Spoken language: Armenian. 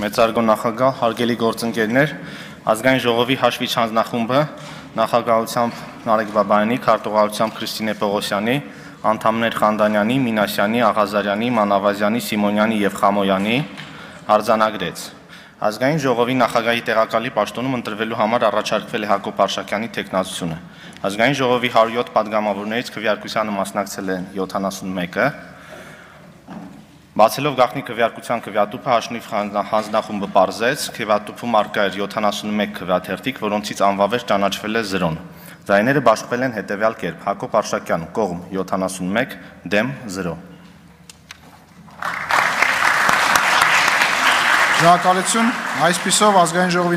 Մեծարգո նախագահ, հարգելի գործընկերներ, ազգային ժողովի հաշվիչ հանձնախումբը նախագահությամբ Նարեկ Բաբայանի, քարտուղարությամբ Քրիստինե Պողոսյանի, անդամներ Խանդանյանի, Մինասյանի, Աղազարյանի, Մանավազյանի, Սիմոնյանի եւ Խամոյանի արձանագրեց։ Ազգային ժողովի նախագահի տեղակալի պաշտոնում ընտրվելու համար առաջարկվել է Հակոբ Արշակյանի թեկնածությունը։ Ազգային ժողովի 107 падգամավորներից քվեարկությանը մասնակցել են 71-ը։ Բացելով գաղտնի քվեարկության քվեատուփը Հաշնիվ հանձնախումբը պարզեց, քվեատուփում առկա էր 71 քվեաթերթիկ, որոնցից անվավեր ճանաչվել է 0-ն։ Ձայները բաշխվել են հետևյալ կերպ. Հակոբ Արշակյան կողմ 71, դեմ 0։ Շնորհակալություն, այսպիսով ազգային ժողովի